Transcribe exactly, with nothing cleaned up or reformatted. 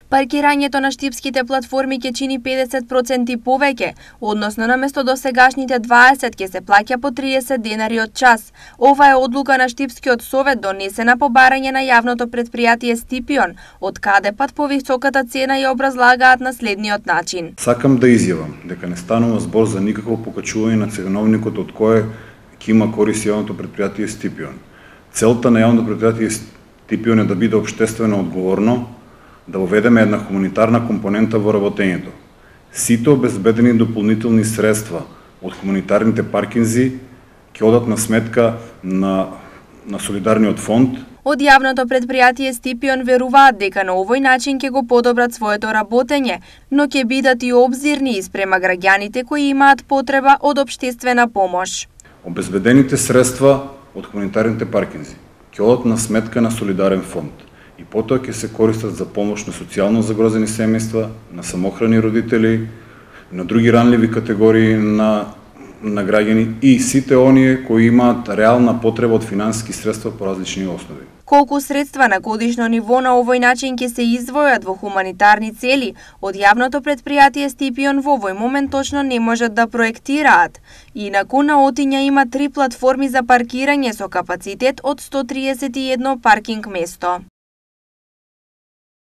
Паркирањето на штипските платформи ќе чини педесет проценти повеќе, односно наместо досегашните дваесет ќе се плаќа по триесет денари од час. Ова е одлука на Штипскиот совет донесена по барање на јавното претпријатие Стипион, од каде пат повисоката цена ја образлагаат на следниот начин. Сакам да изјавам дека не станува збор за никакво покачување на ценовникот од кое ќе има корист јавното претпријатие Стипион. Целта на јавното претпријатие Стипион е да биде општествено одговорно, да уведеме една хуманитарна компонента во работењето. Сите обезбедени дополнителни средства од хуманитарните паркинзи ќе одат на сметка на, на солидарниот фонд. Од јавното претпријатие Стипион веруваат дека на овој начин ќе го подобрат своето работење, но ќе бидат и обзирни спрема граѓаните кои имаат потреба од општествена помош. Обезбедените средства од хуманитарните паркинзи ќе одат на сметка на солидарен фонд и потоа ќе се користат за помош на социјално загрозени семејства, на самохрани родители, на други ранливи категории на, на граѓани и сите оние кои имаат реална потреба од финансиски средства по различни основи. Колку средства на годишно ниво на овој начин ќе се издвојат во хуманитарни цели, од јавното претпријатие Стипион во овој момент точно не можат да проектираат. Инаку на Отиња има три платформи за паркирање со капацитет од сто триесет и едно паркинг место.